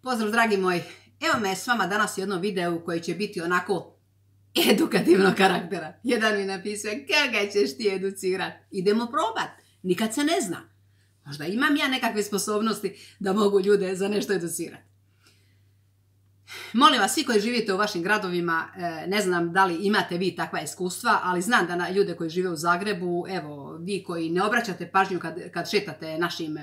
Pozdrav dragi moji, evo me s vama danas u jednom videu koji će biti onako edukativnog karaktera. Jedan mi napisao, kako ćeš ti educirat? Idemo probat, nikad se ne zna. Možda imam ja nekakve sposobnosti da mogu ljude za nešto educirati. Molim vas, svi koji živite u vašim gradovima, ne znam da li imate vi takva iskustva, ali znam da na ljude koji žive u Zagrebu, evo, vi koji ne obraćate pažnju kad šetate našim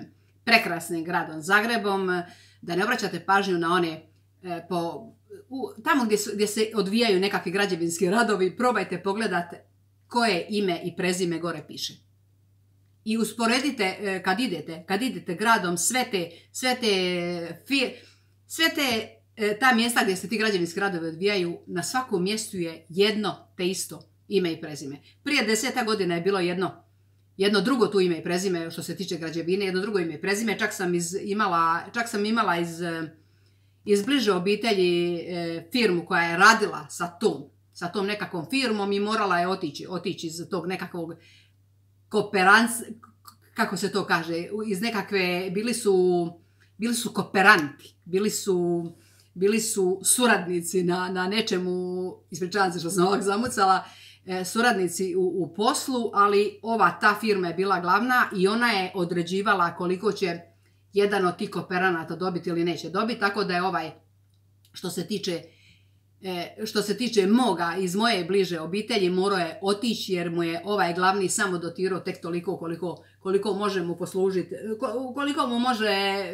prekrasnim gradom Zagrebom, da ne obraćate pažnju na one tamo gdje se odvijaju nekakvi građevinski radovi, probajte pogledati koje ime i prezime gore piše. I usporedite kad idete gradom ta mjesta gdje se ti građevinski radovi odvijaju, na svakom mjestu je jedno te isto ime i prezime. Prije 10 godina je bilo jedno drugo tu ime i prezime što se tiče građevine, jedno drugo ime i prezime, čak sam imala iz bliže obitelji firmu koja je radila sa tom nekakvom firmom i morala je otići iz tog nekakvog kako se to kaže, iz nekakve, bili su kooperanti, bili su suradnici na nečemu, ispričavam se što sam ovak zamucala, suradnici u poslu, ali ta firma je bila glavna i ona je određivala koliko će jedan od tih kooperanata dobiti ili neće dobiti, tako da je što se tiče moga iz moje bliže obitelji morao je otići jer mu je ovaj glavni samo dotirao tek toliko koliko može mu poslužiti, koliko mu može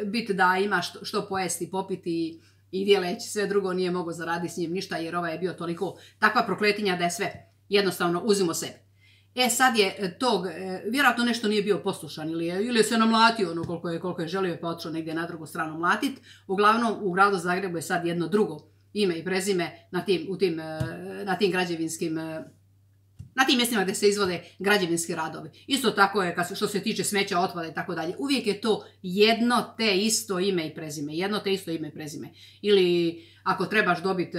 biti da ima što pojesti, popiti i djeleći, sve drugo nije mogao zaraditi s njim ništa jer ovaj je bio toliko takva prokletinja da je sve jednostavno uzimo sebi. Sad je vjerojatno nešto nije bio poslušan ili je se namlatio koliko je želio pa otišao negdje na drugu stranu mlatit. Uglavnom u gradu Zagrebu je sad jedno drugo ime i prezime na tim građevinskim, na tim mjestima gdje se izvode građevinski radovi. Isto tako je što se tiče smeća, otpada i tako dalje. Uvijek je to jedno te isto ime i prezime. Ili ako trebaš dobiti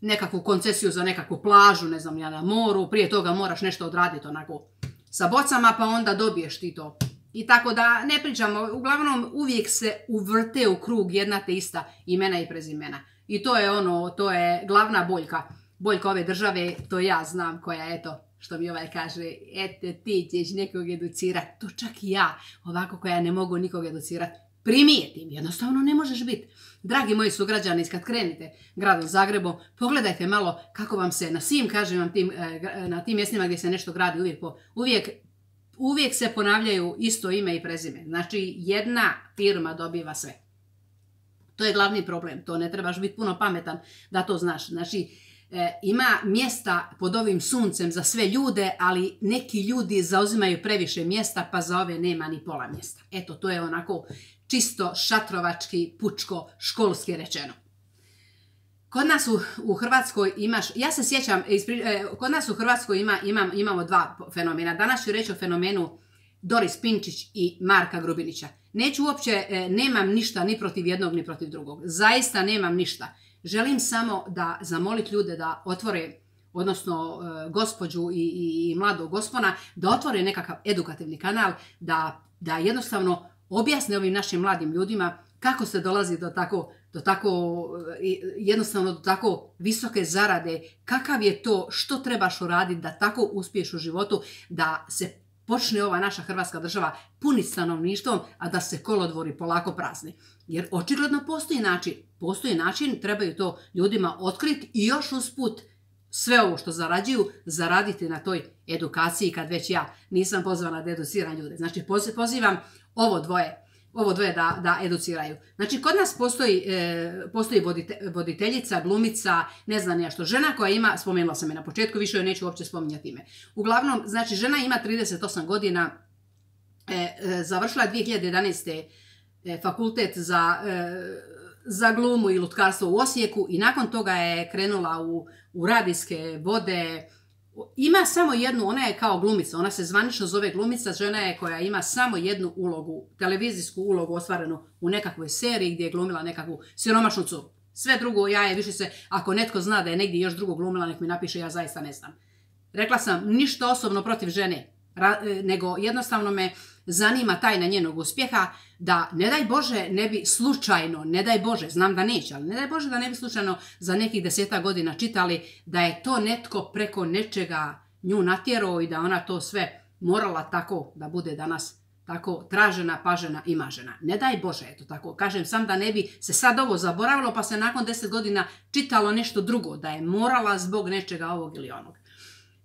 nekakvu koncesiju za nekakvu plažu, ne znam ja, na moru, prije toga moraš nešto odraditi onako sa bocama pa onda dobiješ ti to. I tako da ne pričamo, uglavnom uvijek se uvrte u krug jedna te ista imena i prezimena. I to je glavna boljka ove države, to ja znam koja, eto, što mi ovaj kaže, eto ti ćeš nekog educirati, to čak i ja, ovako koja ne mogu nikog educirati, primijetim, jednostavno ne možeš biti. Dragi moji sugrađani, kad krenete gradom Zagrebom, pogledajte malo kako vam se na svim, kažem vam, na tim mjestima gdje se nešto gradi, uvijek se ponavljaju isto ime i prezime. Znači, jedna firma dobiva sve. To je glavni problem, to ne trebaš biti puno pametan da to znaš. Znači, ima mjesta pod ovim suncem za sve ljude, ali neki ljudi zauzimaju previše mjesta, pa za ove nema ni pola mjesta. Eto, to je onako čisto šatrovački, pučko, školski rečeno. Kod nas u Hrvatskoj ja se sjećam, kod nas u Hrvatskoj imamo dva fenomena. Danas ću reći o fenomenu Doris Pinčić i Marka Grubinića. Neću uopće, nemam ništa ni protiv jednog ni protiv drugog. Zaista nemam ništa. Želim samo da zamoliti ljude da otvore, odnosno gospođu i mladog gospona, da otvore nekakav edukativni kanal, da jednostavno objasne ovim našim mladim ljudima kako se dolazi do tako visoke zarade, kakav je to, što trebaš uraditi da tako uspiješ u životu, da se počne ova naša Hrvatska država puniti stanovništvom, a da se kolodvori polako prazni. Jer očigledno postoji način, trebaju to ljudima otkriti i još usput sve ovo što zarađuju, zaraditi na toj edukaciji kad već ja nisam pozvana da educiram ljude. Znači, pozivam ovo dvoje da educiraju. Znači, kod nas postoji voditeljica, glumica, ne znam ja što, žena koja ima, spomenula sam je na početku, više joj neću uopće spominjati ime. Uglavnom, znači, žena ima 38 godina, završila 2011. fakultet za glumu i lutkarstvo u Osijeku i nakon toga je krenula u radijske vode. Ima samo jednu, ona je kao glumica, ona se zvanično zove glumica, žena je koja ima samo jednu ulogu, televizijsku ulogu ostvarenu u nekakvoj seriji gdje je glumila nekakvu siromašnu curu. Sve drugo, ako netko zna da je negdje još drugo glumila, nek mi napiše, ja zaista ne znam. Rekla sam, ništa osobno protiv žene, nego jednostavno me zanima tajna njenog uspjeha, da ne daj Bože ne bi slučajno, ne daj Bože, znam da neće, ali ne daj Bože da ne bi slučajno za nekih 10 godina čitali da je to netko preko nečega nju natjerao i da ona to sve morala tako da bude danas tako tražena, pažena i mažena. Ne daj Bože, eto tako. Kažem sam da ne bi se sad ovo zaboravilo pa se nakon 10 godina čitalo nešto drugo, da je morala zbog nečega ovog ili onog.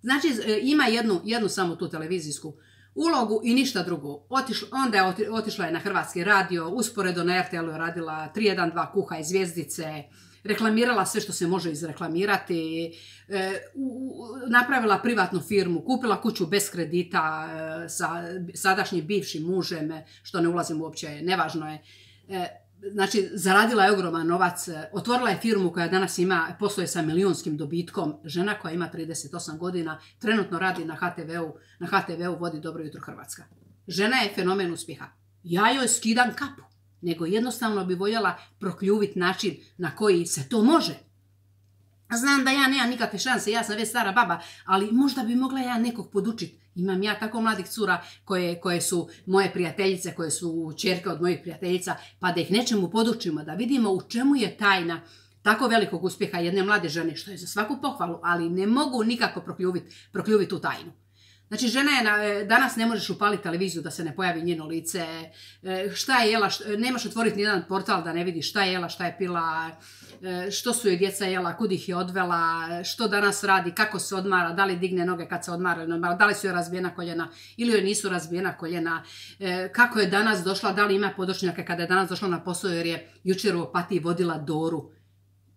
Znači, ima jednu samo tu televizijsku ulogu i ništa drugo. Onda je otišla je na Hrvatski radio, usporedo na RTL-u je radila 312 Kuha i Zvjezdice, reklamirala sve što se može izreklamirati, napravila privatnu firmu, kupila kuću bez kredita sa sadašnjim bivšim mužem, što ne ulazim uopće, nevažno je. Znači, zaradila je ogroman novac, otvorila je firmu koja danas posluje sa milijunskim dobitkom, žena koja ima 38 godina, trenutno radi na HTV-u vodi Dobro jutro Hrvatska. Žena je fenomen uspjeha. Ja joj skidam kapu, nego jednostavno bi voljela prokljuviti način na koji se to može. Znam da ja nemam nikakve šanse, ja sam već stara baba, ali možda bi mogla ja nekog podučiti. Imam ja tako mladih cura koje su moje prijateljice, koje su ćerke od mojih prijateljica, pa da ih nečemu podučimo, da vidimo u čemu je tajna tako velikog uspjeha jedne mlade žene, što je za svaku pohvalu, ali ne mogu nikako prokljuviti tu tajnu. Znači, žena je, danas ne možeš upaliti televiziju da se ne pojavi njeno lice, šta je jela, nemaš otvoriti nijedan portal da ne vidiš šta je jela, šta je pila, što su joj djeca jela, kud ih je odvela, što danas radi, kako se odmara, da li digne noge kad se odmara, da li su joj razbijena koljena ili joj nisu razbijena koljena, kako je danas došla, da li ima podočnjake kada je danas došla na posao jer je jučer u Opatiji vodila Doru.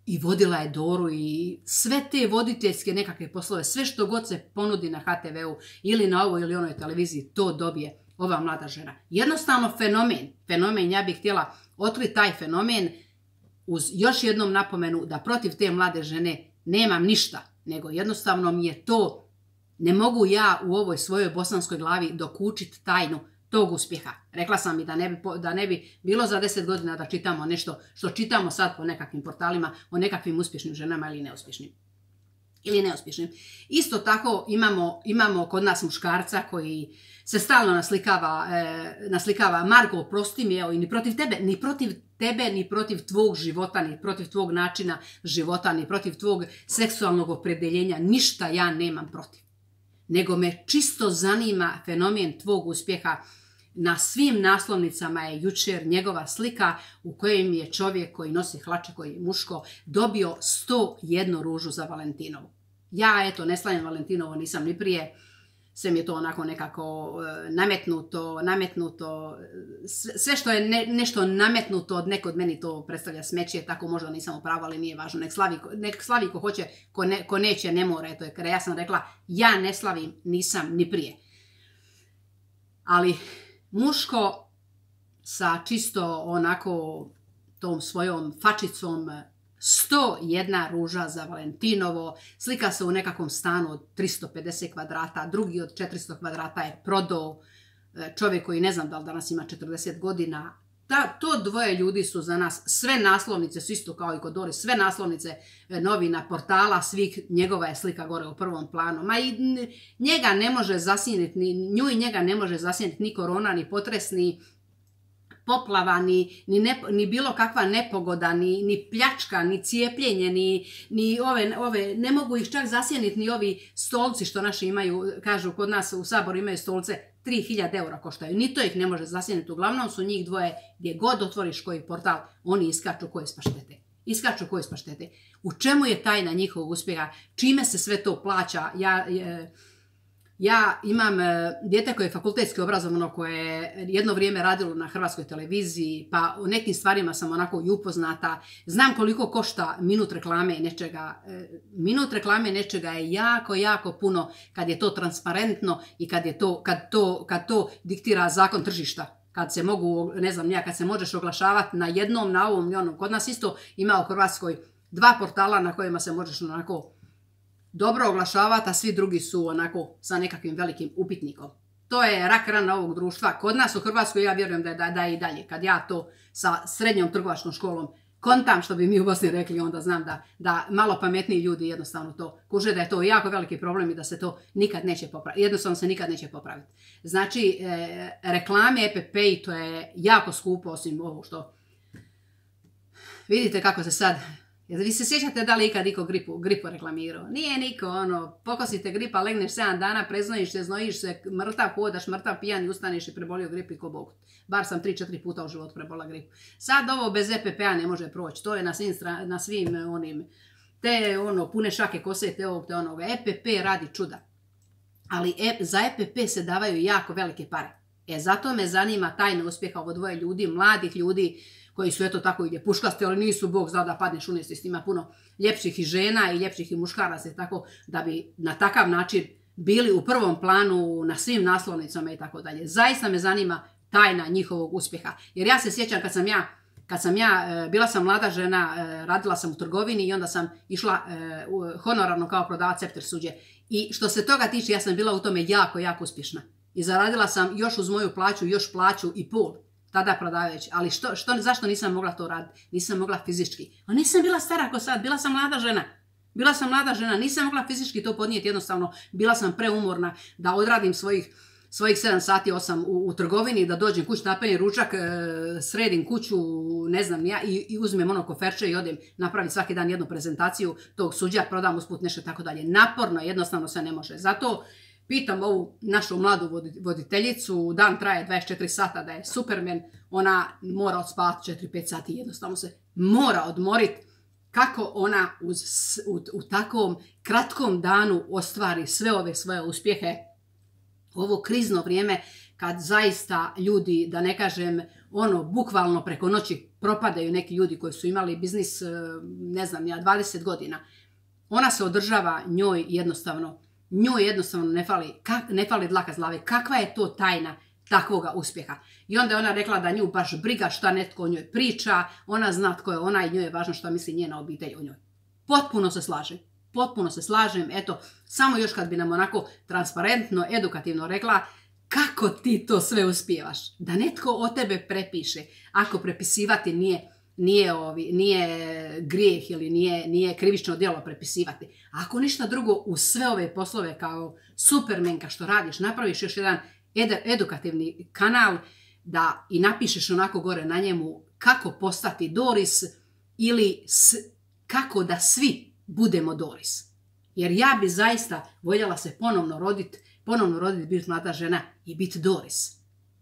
I vodila je Doru i sve te voditeljske nekakve poslove, sve što god se ponudi na HTV-u ili na ovoj ili onoj televiziji, to dobije ova mlada žena. Jednostavno fenomen, ja bih htjela otkriti taj fenomen uz još jednom napomenu da protiv te mlade žene nemam ništa, nego jednostavno mi je to, ne mogu ja u ovoj svojoj bosanskoj glavi dokučiti tajnu tog uspjeha. Rekla sam i da ne bi bilo za 10 godina da čitamo nešto što čitamo sad po nekakvim portalima o nekakvim uspješnim ženama ili neuspješnim. Isto tako imamo kod nas muškarca koji se stalno naslikava Marko, oprosti mi, evo, i ni protiv tebe, ni protiv tvog života, ni protiv tvog načina života, ni protiv tvog seksualnog opredjeljenja, ništa ja nemam protiv. Nego me čisto zanima fenomen tvog uspjeha. Na svim naslovnicama je jučer njegova slika u kojem je čovjek koji nosi hlače, koji je muško, dobio 101 ružu za Valentinovu. Ja, eto, ne slavim Valentinovo, nisam ni prije, sve mi je to onako nekako nametnuto, sve što je nešto nametnuto od nekog meni to predstavlja smeće, tako možda nisam u pravu, ali nije važno, nek slavi ko hoće, ko neće ne mora, eto, jer ja sam rekla, ja ne slavim, nisam ni prije. Ali muško sa čisto onako tom svojom fačicom, 101 ruža za Valentinovo, slika se u nekakvom stanu od 350 kvadrata, drugi od 400 kvadrata je prodao, čovjek koji ne znam da li danas ima 40 godina. To dvoje ljudi su za nas, sve naslovnice su isto kao i kod Dori, sve naslovnice novina, portala, svih, njegova je slika gore u prvom planu. Ma i njega ne može zasjeniti, nju i njega ne može zasjeniti ni korona, ni potres, ni poplava, ni bilo kakva nepogoda, ni pljačka, ni cijepljenje, ni ove, ne mogu ih čak zasjeniti ni ovi stolci što naši imaju, kažu kod nas u Saboru imaju stolce, 3000 eura koštaju. Ni to ih ne može zasjeniti. Uglavnom su njih dvoje, gdje god otvoriš koji portal, oni iskaču koje spaštete. U čemu je tajna njihovog uspjeha? Čime se sve to plaća? Ja imam dijete koje je fakultetski obrazovano, koje je jedno vrijeme radilo na Hrvatskoj televiziji, pa u nekim stvarima sam onako i upoznata. Znam koliko košta minut reklame nečega. Minut reklame nečega je jako, jako puno kad je to transparentno i kad to diktira zakon tržišta. Kad se mogu, ne znam, kad se možeš oglašavati na jednom, na ovom i onom. Kod nas isto ima u Hrvatskoj 2 portala na kojima se možeš onako dobro oglašavati, a svi drugi su onako sa nekakvim velikim upitnikom. To je rak rana ovog društva. Kod nas u Hrvatskoj ja vjerujem da je i dalje. Kad ja to sa srednjom trgovačkom školom kontam, što bi mi u Bosni rekli, onda znam da malo pametniji ljudi jednostavno to kuže, da je to jako veliki problem i da se to nikad neće popraviti. Jednostavno se nikad neće popraviti. Znači, reklame, EPP, to je jako skupo, osim ovo što... Vidite kako se sad... Vi se sjećate da li ikad niko gripu reklamirao? Nije niko, pokosite gripa, legneš 7 dana, preznojiš se, znojiš se, mrtav hodaš, mrtav pijan i ustaneš i prebolio gripu i ko Bog. Bar sam 3-4 puta u životu prebola gripu. Sad ovo bez EPP-a ne može proći, to je na svim onim, te pune šake kose, te ovog, te onoga. EPP radi čuda. Ali za EPP se davaju jako velike pare. Zato me zanima tajna uspjeha ovo dvoje ljudi, mladih ljudi, koji su eto tako ide puškaste, ali nisu Bog zna da padneš u nesvijest. Ima puno ljepših i žena i ljepših i muškaraca i tako da bi na takav način bili u prvom planu na svim naslovnicama i tako dalje. Zaista me zanima tajna njihovog uspjeha. Jer ja se sjećam kad sam ja bila sam mlada žena, radila sam u trgovini i onda sam išla honorarno kao prodavac Cepter suđe. I što se toga tiče, ja sam bila u tome jako, jako uspješna. I zaradila sam još uz moju plaću, još plaću i pol. Tada prodavajući, ali zašto nisam mogla to raditi? Nisam mogla fizički. A nisam bila stara ko sad, bila sam mlada žena. Nisam mogla fizički to podnijeti, jednostavno bila sam preumorna da odradim svojih 7 sati, 8 u trgovini, da dođem kući, napenim ručak, sredim kuću, ne znam ja, i uzmem koferče i odem napraviti svaki dan jednu prezentaciju tog suđa, prodam usput nešto i tako dalje. Naporno, jednostavno se ne može. Zato pitam ovu našu mladu voditeljicu, dan traje 24 sata, da je Superman, ona mora odspavati 4-5 sati, jednostavno se mora odmoriti. Kako ona u takvom kratkom danu ostvari sve ove svoje uspjehe, ovo krizno vrijeme kad zaista ljudi, da ne kažem, bukvalno preko noći propadaju neki ljudi koji su imali biznis, ne znam ja, 20 godina. Ona se održava, njoj jednostavno ne fali dlaka s glave. Kakva je to tajna takvoga uspjeha? I onda je ona rekla da nju baš briga šta netko o njoj priča, ona zna tko je ona i njoj je važno šta misli njena obitelj o njoj. Potpuno se slažem, eto, samo još kad bi nam onako transparentno, edukativno rekla kako ti to sve uspijevaš. Da netko o tebe prepiše, ako prepisivati nije grijeh ili nije krivično djelo prepisivati. A ako ništa drugo, u sve ove poslove kao Supermenka što radiš, napraviš još jedan edukativni kanal da i napišeš onako gore na njemu kako postati Doris ili kako da svi budemo Doris. Jer ja bi zaista voljela se ponovno roditi, biti mlada žena i biti Doris.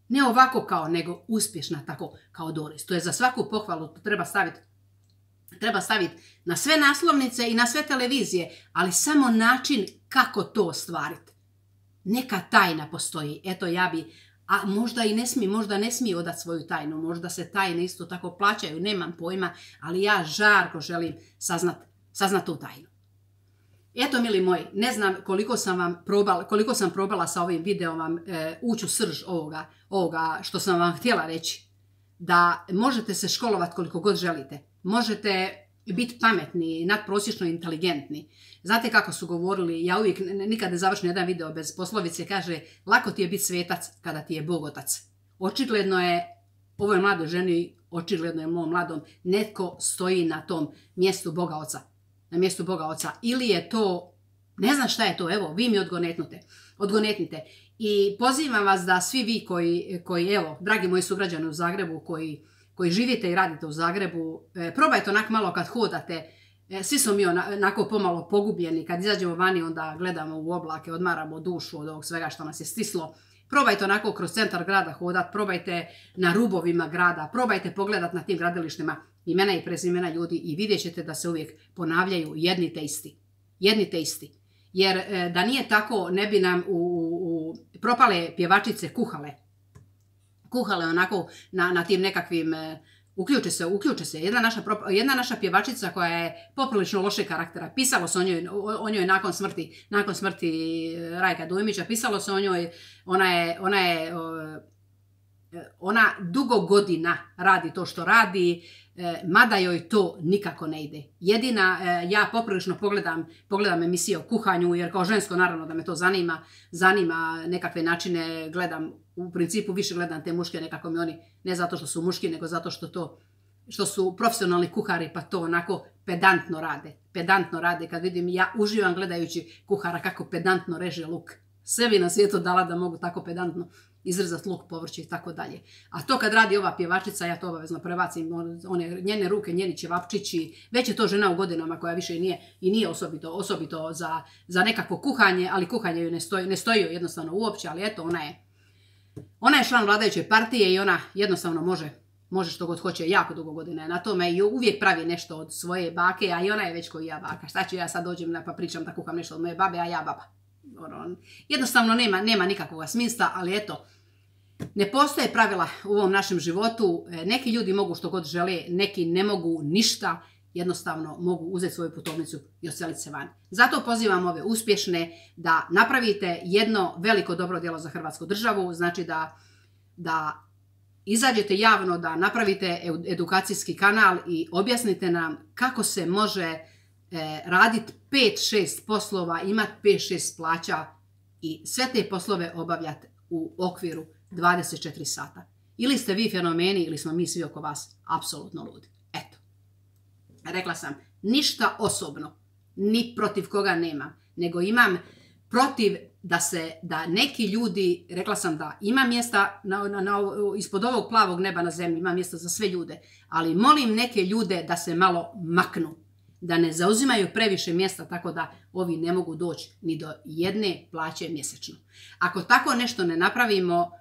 Ne ovako kao, nego uspješna tako kao Doris. To je za svaku pohvalu, to treba staviti na sve naslovnice i na sve televizije, ali samo način kako to ostvariti. Neka tajna postoji. Eto ja bi, a možda ne smije odati svoju tajnu, možda se tajne isto tako plaćaju, nemam pojma, ali ja žarko želim saznat tu tajnu. Eto, mili moji, ne znam koliko sam probala sa ovim videom vam ući u srž ovoga što sam vam htjela reći. Da možete se školovati koliko god želite. Možete biti pametni, nadprosječno inteligentni. Znate kako su govorili, ja uvijek nikad ne završim jedan video bez poslovice, kaže lako ti je biti svetac kada ti je Bog otac. Očigledno je ovoj mladoj ženi, očigledno je mom mladom, netko stoji na tom mjestu Boga oca. Na mjestu Boga oca. Ili je to, ne znam šta je to, evo, vi mi odgonetnite. I pozivam vas da svi vi koji evo, dragi moji sugrađani u Zagrebu, koji živite i radite u Zagrebu, probajte onak malo kad hodate, svi smo mi onako pomalo pogubljeni, kad izađemo vani onda gledamo u oblake, odmaramo dušu od ovog svega što nas je stislo. Probajte onako kroz centar grada hodat, probajte na rubovima grada, probajte pogledat na tim gradilištima imena i prezimena ljudi i vidjet ćete da se uvijek ponavljaju jedni te isti. Jer da nije tako, ne bi nam propale pjevačice kuhale onako na tim nekakvim, uključe se. Jedna naša pjevačica koja je poprilično loše karaktera, pisalo se o njoj nakon smrti Rajka Dujmića, pisalo se o njoj, ona dugo godina radi to što radi, mada joj to nikako ne ide. Jedina, ja poprilično pogledam emisije o kuhanju, jer kao žensko naravno da me to zanima nekakve načine, gledam, u principu više gledam te muške, nekako mi oni, ne zato što su muški, nego zato što to što su profesionalni kuhari pa to onako pedantno rade. Pedantno rade kad vidim, ja uživam gledajući kuhara kako pedantno reže luk. Sve bi na svijetu dala da mogu tako pedantno izrezati luk, povrće i tako dalje. A to kad radi ova pjevačica, ja to obavezno prebacim, one njene ruke, njeni ćevapčići, već je to žena u godinama koja više nije osobito za nekakvo kuhanje, ali kuhanje ju ne stoji jednostavno uopće, ali eto, ona je član vladajuće partije i ona jednostavno može što god hoće, jako dugo godina je na tome i uvijek pravi nešto od svoje bake, a i ona je već koji ja baka. Šta ću ja sad dođem pa pričam da kuham nešto od moje babe, a ja baba. Jednostavno nema nikakvog smisla, ali eto, ne postoje pravila u ovom našem životu. Neki ljudi mogu što god žele, neki ne mogu ništa, jednostavno mogu uzeti svoju putovnicu i odseliti se van. Zato pozivam ove uspješne da napravite jedno veliko dobro djelo za Hrvatsku državu, znači da izađete javno, da napravite edukacijski kanal i objasnite nam kako se može raditi 5-6 poslova, imati 5-6 plaća i sve te poslove obavljati u okviru 24 sata. Ili ste vi fenomeni ili smo mi svi oko vas apsolutno ludi. Eto. Rekla sam, ništa osobno, ni protiv koga nemam, nego imam protiv da neki ljudi, rekla sam da ima mjesta ispod ovog plavog neba na zemlji, ima mjesta za sve ljude, ali molim neke ljude da se malo maknu, da ne zauzimaju previše mjesta tako da ovi ne mogu doći ni do jedne plaće mjesečno. Ako tako nešto ne napravimo,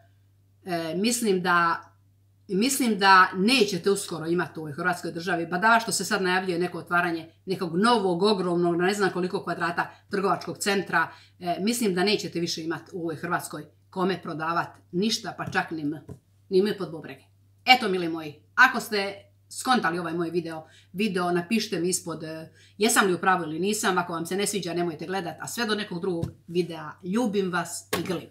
mislim da nećete uskoro imati u ovoj Hrvatskoj državi, badava što se sad najavljuje neko otvaranje nekog novog, ogromnog, ne znam koliko kvadrata trgovačkog centra, mislim da nećete više imati u ovoj Hrvatskoj kome prodavati ništa, pa čak ni mi pod bubrege. Eto, mili moji, ako ste skontali ovaj moj video, napišite mi ispod jesam li u pravu ili nisam, ako vam se ne sviđa nemojte gledati, a sve do nekog drugog videa ljubim vas i grlim.